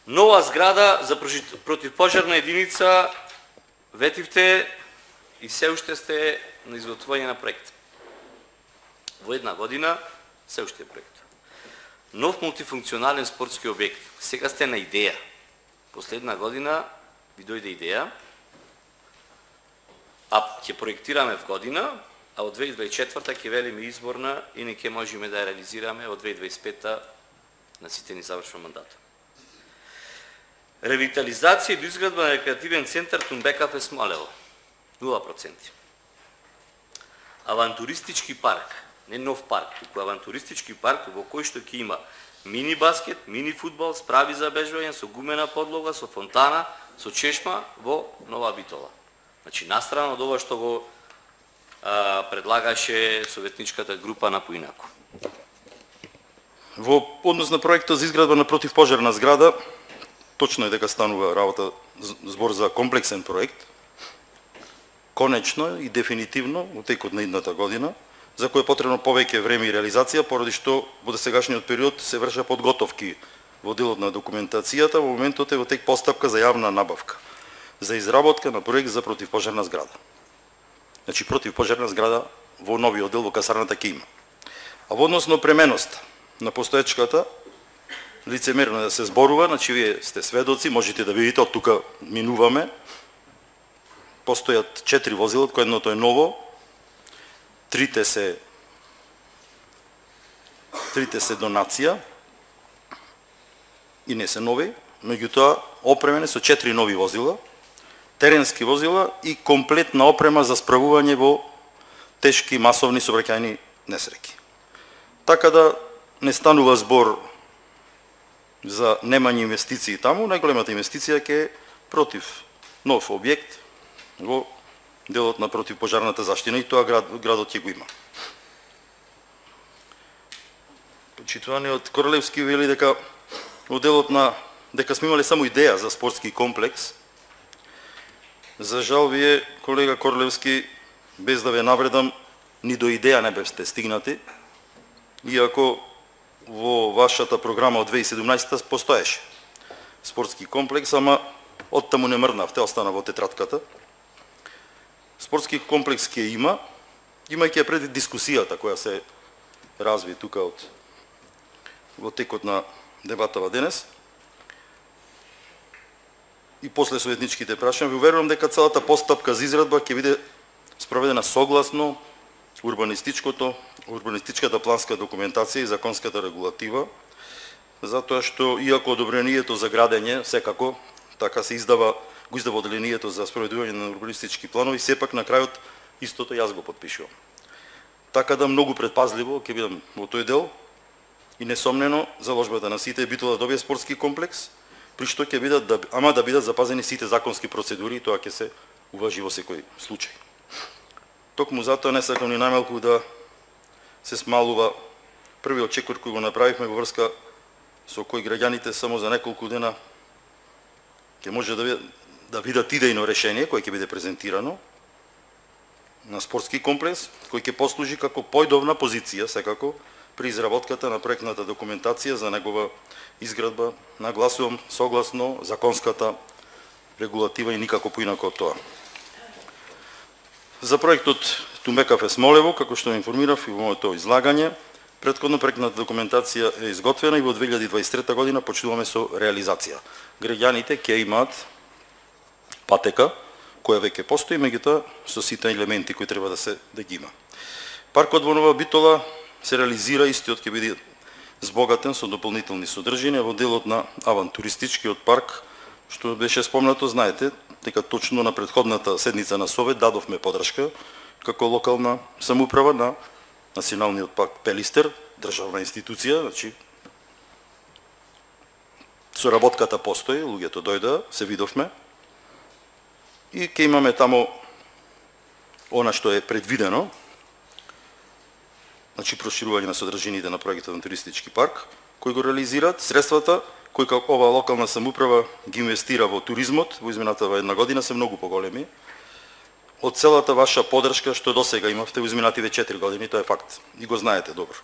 Нова зграда за противпожарна единица, ветивте и се уште сте на изготвување на проект. Во една година се уште е проект. Нов мултифункционален спортски објект. Сега сте на идеја. Последна година ви дојде идеја, а ќе проектираме в година, а од 2024 ќе велиме изборна и не ќе можеме да ја реализираме од 2025 на сите ни завршва мандата. Ревитализација и доизградба на рекреативен центар Тумбекафе Смолево. 0%. Авантуристички парк, не нов парк, туку авантуристички парк во кој што ќе има мини баскет, мини фудбал, справи за бежување со гумена подлога, со фонтана, со чешма во Нова Битола. Значи, настрана од ова што го предлагаше советничката група на поинаку. Во однос на проектот за изградба на противпожарна зграда, точно е дека станува работа збор за комплексен проект, конечно и дефинитивно во текот на идната година, за кој е потребно повеќе време и реализација, поради што во досегашниот период се вршат подготовки во делот на документацијата, во моментот е во тек постапка за јавна набавка, за изработка на проект за противпожарна зграда. Значи, противпожарна зграда во новиот дел во касарната ќе има. А во однос на опременоста на постоечката, лицемерно да се зборува, значи вие сте сведоци, можете да видите, од тука минуваме, постојат 4 возила, од кој едното е ново, трите се донација и не се нови, меѓутоа опремени со 4 нови возила, теренски возила и комплетна опрема за справување во тешки масовни сообраќајни несреќи. Така да не станува збор за немање инвестиции таму, најголемата инвестиција ќе е против нов објект во делот на противпожарната заштина и тоа градот ќе го има. Почитуваниот Корлевски вели дека во делот на дека сме имале само идеја за спортски комплекс. За жал вие, колега Корлевски, без да ве навредам, ни до идеја не бевте стигнати, иако во вашата програма од 2017 постоеше спортски комплекс, ама оттаму не мрднавте, остана во тетратката. Спортски комплекс ќе има, имајќи пред дискусијата која се разви тука во текот на дебатава денес и после советничките прашања, ви уверувам дека целата постапка за израдба ќе биде спроведена согласно урбанистичката планска документација и законската регулатива, затоа што иако одобрението за градење секако така се го издава одделението за спроведување на урбанистички планови, сепак на крајот истото јас го подпишувам. Така да многу предпазливо ќе бидам во тој дел и несомнено заложбата на сите е Битола да добие спортски комплекс, при што ќе бидат да бидат запазени сите законски процедури и тоа ќе се уважи во секој случај. Токму затоа не сакам ни најмалку да се смалува првиот чекор кој го направивме во врска со кој граѓаните само за неколку дена ќе може да видат идејно решение кој ќе биде презентирано на спортски комплекс, кој ќе послужи како појдовна позиција секако при изработката на проектната документација за негова изградба, нагласувам согласно законската регулатива и никако поинако од тоа. За проектот Тумбекафе Смолево, како што информирав и во моето излагање, претходно проектната документација е изготвена и во 2023 година почнуваме со реализација. Граѓаните ќе имаат патека која веќе постои, меѓутоа со сите елементи кои треба да ги има. Паркот во Нова Битола се реализира, истиот ќе биде збогатен со дополнителни содржини во делот на авантуристичкиот парк, што беше спомнато, знаете, дека точно на претходната седница на Совет дадовме подршка како локална самоуправа на Националниот парк Пелистер, државна институција, значи соработката постои, луѓето дојдоа, се видовме и ќе имаме таму она што е предвидено, значи проширување на содржините на проектот на туристички парк, кој го реализираат средствата кои како ова локална самоуправа ги инвестира во туризмот во изминатава една година се многу поголеми од целата ваша подршка што досега имавте во изминативе 4 години, тоа е факт и го знаете добро.